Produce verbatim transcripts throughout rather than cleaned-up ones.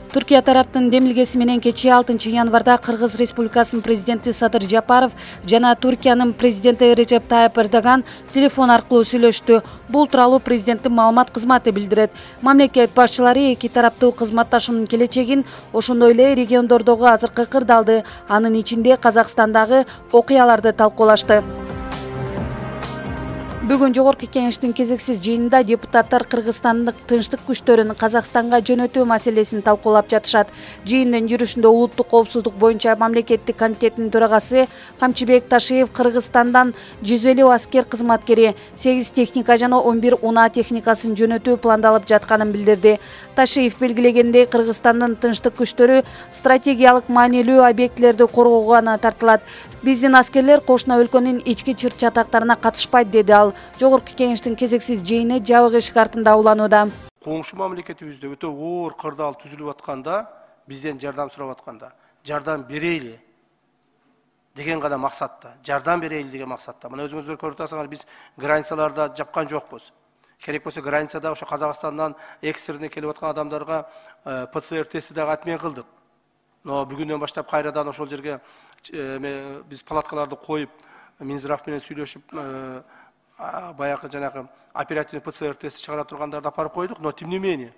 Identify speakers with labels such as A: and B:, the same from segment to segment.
A: Түркия тараптын демилгеси менен кечээ алтынчы январда Кыргыз Республикасынын президенти Садыр Жапаров жана Түркиянын президенти Режеп Тайып Эрдоган телефон аркылуу сүйлөштү. Бул тууралуу президенттин маалымат кызматы билдирет. Мамлекет башчылары эки тараптуу кызматташуунун келечегин, ошондой эле региондордогу азыркы кырдаалды, анын ичинде Казакстандагы окуяларды талкуулашты. Бүгүн жогорку кеңештин кезексиз жыйынында депутаттар Кыргызстандык тынчтык күчтөрүн Казакстанга жөнөтүү маселесин талкуулап жатышат. Жыйындын жүрүшүндө улуттук коопсуздук боюнча мамлекеттик комитеттин төрагасы Камчыбек Ташиев Кыргызстандан жүз элүү аскер кызматкери, сегиз техника жана он бир унаа техникасын жөнөтүү пландалып жатканын билдирди. Ташиев белгилегендей, Кыргызстандын тынчтык күчтөрү стратегиялык маанилүү объектилерди коргоого гана тартылат. Биздин аскерлер кошуна өлкөнүн ички чыр-чатактарына катышпайт, деди ал. Жогорку кеңештин кезексиз жыйыны жабык эшик артында уланууда.
B: Коңшу мамлекетибизде өтө оор кырдаал түзүлүп атканда, бизден жардам сурап атканда, жардам берейли деген гана максатта, жардам берейли деген максатта. Мына өзүңүздөр көрүп атасыңар, биз границаларда жапкан жокпуз. Керек болсо границада ошо Казакстандан экстренный келип аткан адамдарга П Ц Р тести дагы отмен кылдык. Но бүгүндөн баштап кайрадан ошол жерге биз палаткаларды коюп, Минздрав менен сүйлөшүп, баягы жанагы оперативный П Ц Р тести чыгара тургандарды апарып койдук. Но тем не менее,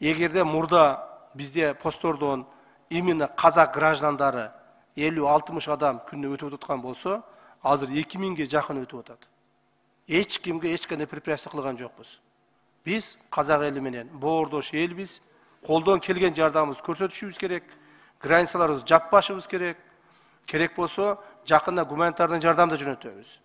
B: эгерде мурда бизде посттордон именно казак граждандары элүү алтымыш адам күнүнө өтүп аткан болсо, азыр эки миңге жакын өтүп атат. Эч кимге эч кандай препятствие кылган жокпуз. Биз казак эли менен боордош элбиз. Колдон келген жардамыбызды көрсөтүшүбүз керек. Границаларыбызды жаппашыбыз керек. Керек болсо, жакында гуманитардын жардамды жөнөтөбүз.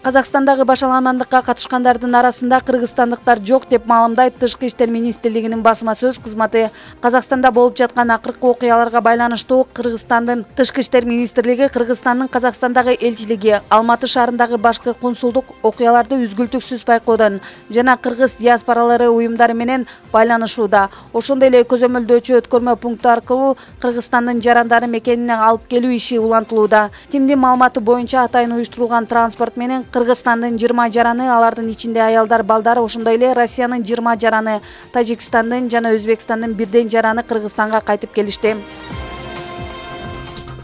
A: Казакстандагы башаламандыкка катышкандардын арасында кыргызстандыктар жок деп маалымдайт Тышкы иштер министрлигинин басма сөз кызматы. Казакстанда болуп жаткан акыркы окуяларга байланыштуу Кыргызстандын Тышкы иштер министрлиги, Кыргызстандын Казакстандагы элчилиги, Алматы шаарындагы башкы консулдук окуяларды үзгүлтүксүз байкоодон жана кыргыз диаспоралары уюмдары менен байланышууда. Ошондой эле көзөмөлдөөчү өткөрмө пункту аркылуу Кыргызстандын жарандары мекенине алып келүү иши улантылууда. Тимдин маалыматы боюнча атайын уюштурулган транспорт менен Кыргызстандын жыйырма жараны, алардын ичинде аялдар, балдар, ошондой эле Россиянын жыйырма жараны, Тажикстандын жана Өзбекстандын бирден жараны Кыргызстанга кайтып келишти.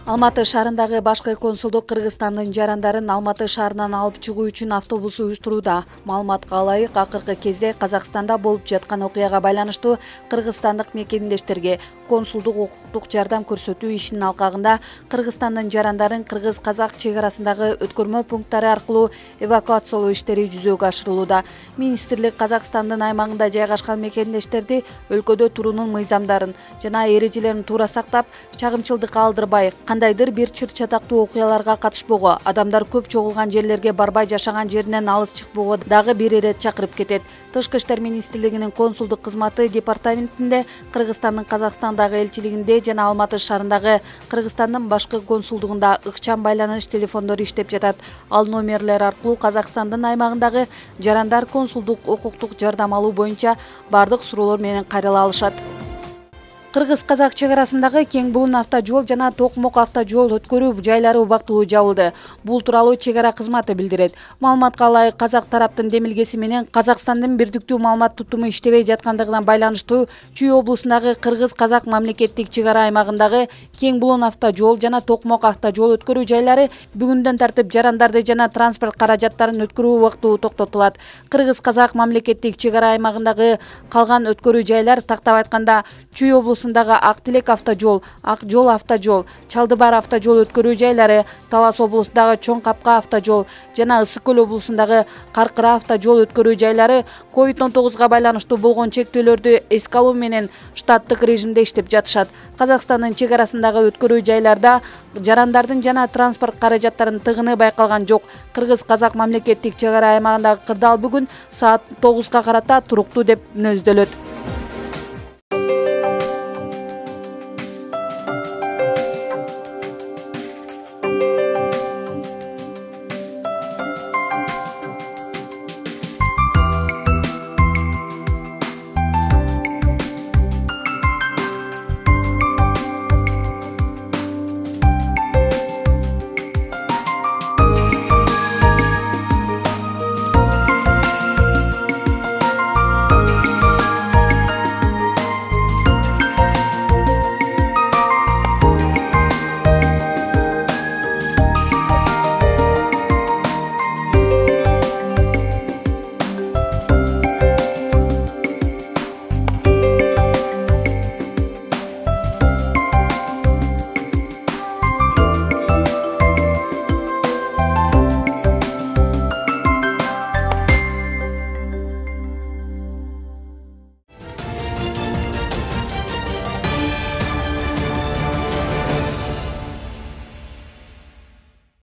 A: Алматы шаарындагы башкы консулдук Кыргызстандын жарандарын Алматы шаарынан алып чыгуу үчүн автобус уюштурууда. Маалыматка ылайык, акыркы кезде Казакстанда болуп жаткан окуяга байланыштуу кыргызстандык мекендештерге консулдук укуктук жардам көрсөтүү ишинин алкагында Кыргызстандын жарандарын кыргыз-казак чек арасындагы өткөрмө пункттары аркылуу эвакуациялоо иштери жүзөгө ашырылууда. Министрлик Казакстандын аймагында жайгашкан мекендештерди өлкөдө туруунун мыйзамдарын жана эрежелерин туура сактап, чагымчылдыкка алдырбай, кандайдыр бир чыр-чатактуу окуяларга катышпоого, адамдар көп чогулган жерлерге барбай, жашаган жеринен алыс чыкпоого дагы бир ирет чакырып кетет. Тышкы иштер министрлигинин консулдук кызматы департаментинде, Кыргызстандын Казакстандагы элчилигинде жана Алматы шаарындагы Кыргызстандын башкы консулдугунда ыкчам байланыш телефондору иштеп жатат. Ал номерлер аркылуу Казакстандын аймагындагы жарандар консулдук укуктук жардам алуу боюнча бардык суроолор менен кайрыла алышат. Кыргыз-казак чек арасындагы Кең Булун автожол жана Токмок автожол өткөрүү жайлары убактылуу жабылды. Бул тууралуу чек ара кызматы билдирет. Маалыматка ылайык, казак тараптын демилгеси менен Казакстандын бирдиктүү маалымат тутуму иштебей жаткандыгына байланыштуу Чүй облусундагы кыргыз-казак мамлекеттик чек ара аймагындагы Кең Булун автожол жана Токмок автожол өткөрүү жайлары бүгүндөн тартып жарандарды жана транспорт каражаттарын өткөрүү убактылуу токтотулат. Кыргыз-казак мамлекеттик чек ара аймагындагы калган өткөрүү жайлар, тактап айтканда, Чүй облусу Ак Тилек автожол, Ак Жол автожол, Чалдыбар автожол өткөрүү жайлары, Талас облусундагы Чоң Капка автожол жана Ысык Көл облусундагы Каркыра автожол өткөрүү жайлары ковид он тогузга байланыштуу болгон чектөөлөрдү эске алуу менен штаттык режимде иштеп жатышат. Казакстандын чек арасындагы өткөрүү жайларда жарандардын жана транспорт каражаттарынын тыгыны байкалган жок. Кыргыз-казак мамлекеттик чек ара аймагындагы кырдаал бүгүн саат тогузга карата туруктуу деп мүнөздөлөт.